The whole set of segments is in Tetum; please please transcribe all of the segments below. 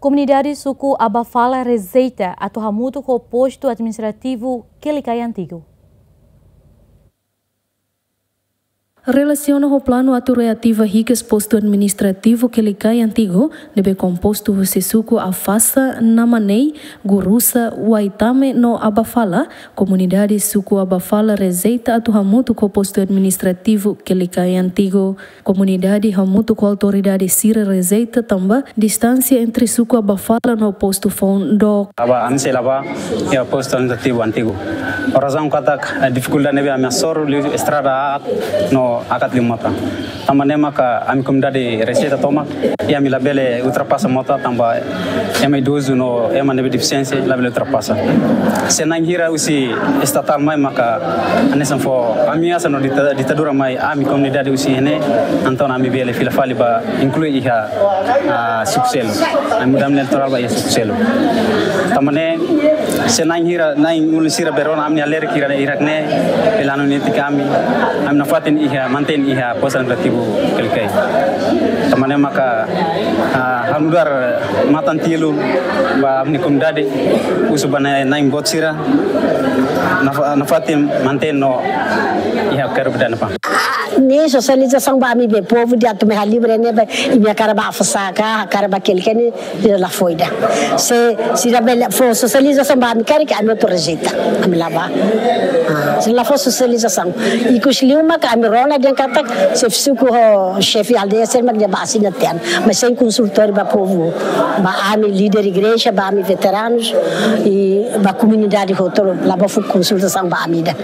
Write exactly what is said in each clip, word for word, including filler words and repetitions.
Komunidade suku Abafala rejeita atu hamutuk ho postu administrativu Quelicai Antigu. Relasiona ho planu atu reativa hikas postu administrativu Quelicai Antigu, ne'ebé kompostu husi suku Afasa, Namanei, Gurusa, Waitame no Abafala, komunidade suku Abafala rejeita atu hamutuk ho postu administrativu Quelicai Antigu. Komunidade hamutuk ho autoridade sira rejeita tanba distánsia entre suku Abafala no postu foun dook. Tanba ami sei la'o ba iha postu administrativu Antigu. Razaun katak, eh, difikuldade ne'ebé ami hasoru liu estrada aat no hakat liu mota. Tanba ne'e maka ami komunidade rejeita tomak, i ami labele ultrapasa mota tanba ema idozu no ema ne'ebé defisiénsia labele ultrapasa. Se na'in hira husi estatál mai maka hanesan fó ameasa no dita-, ditadura mai ami komunidade husi ne'e, entaun ami bele fila fali ba inklui iha, ah, suku seluk. Ami mudansa eleitorál ba iha suku seluk. Tanba ne'e, se na'in hira, na'in ulun sira bele rona ami-nia lerik hirak-hirak ne'e, bele hanoin netik ami, ami nafatin iha, mantein iha postu administrativu Quelicai. Tanba ne'e maka, ah, ha'u nu'udar matan-tilun ba ami-nia komunidade, husu ba na'in, na'in boot sira, nafa-, nafatin mantein no iha karu bidana pa. Ne'e sosializasaun ba ami be povu ida atu mai halibur ne'e ba, imi hakarak ba Afasa ka, hakarak ba Quelicai ne'e, sira la fó ida. Se sira bele fó sosializasaun ba ami karik, ami atu rejeita, ami la bá. Ah, sira la fó sosializasaun. Ikus liu maka ami rona dehan katak xefe suku ho xefe aldeia sira mak dehan ba asina tiha an. Mas sein konsultóriu ba povu, ba ami líder igreja, ba ami veteranus, i ba komunidade hotu, la bá fó konsultasaun ba ami ida.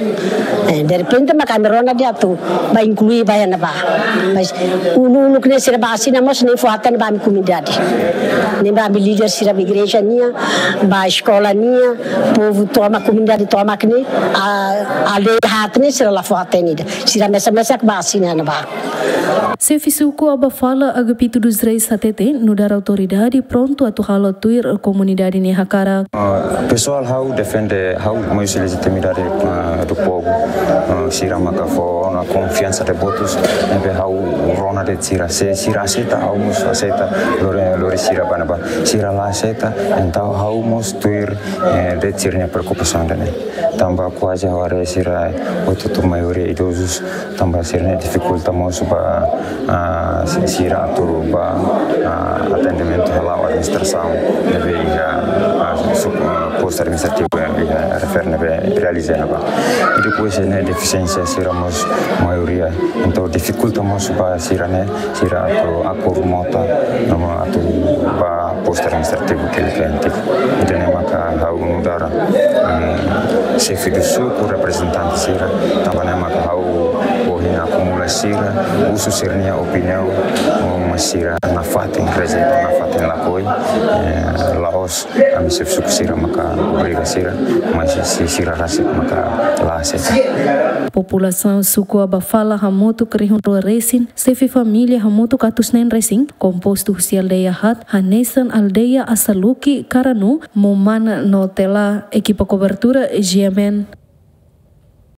Eh, derrepente maka ami rona dehan atu ba inklui ba iha ne'ebá. Mas uluk-uluk ne'e sira bá asina mós ne'e fó hatene ba ami komunidade. Ne'e ba ami líder sira ba igreja nian, ba eskola nian, povu tomak, komunidade tomak ne'e, a, aldeia haat ne'e sira la fó hatene ida. Sira mesak-mesak bá asina iha ne'ebá. Xefe suku Abafala Agapito dos Reis hatete, nu'udar autoridade prontu atu halo tuir komunidade nia hakarak. Ah, pesoál ha'u defende, ha'u mai husi lejitimidade, ah, do povu. Ah, sira maka fó ona konfiansa de votus, ne'ebé ha'u rona de'it sira. Se sira aseita, ha'u mós aseita, lori, lori sira ba ne'ebá. Sira la aseita, entaun ha'u mós tuir, eh, de'it sira-nia preokupasaun ida-ne'e. Tanba kuaze ha'u haree sira hotu-hotu maioria idozus, tanba sira-ne'e difikulta mós ba, ah, si-, sira atu ba, ah, atendimentu hala'o administrasaun ne'ebé iha, ah, su-, ah, postu administrativu ne'ebé iha refere ne'ebé realiza ne'ebá. I depois ne'e defisiénsia sira mós maioria. Entaun difikulta mós ba sira-ne'e, sira atu akur mota, no mós atu ba postu administrativu Quelicai Antigu. Ida-ne'e maka ha'u nu'udar, mm, xefe do suku, reprezentante sira, tanba ne'e maka ha'u ohin akumula sira, husu sira-nia opiniaun, mas sira nafatin rejeita, nafatin lakohi, eh, la'ós ami xefe suku sira maka obriga sira, mas se sira rasik maka la aseita. Populasaun suku Abafala hamutuk rihun rua resin, xefe família hamutuk atus neen resin, kompostu husi aldeia haat, hanesan aldeia Asaluki, Karanu, Momana no Tela. Ekipa kobertura G M N.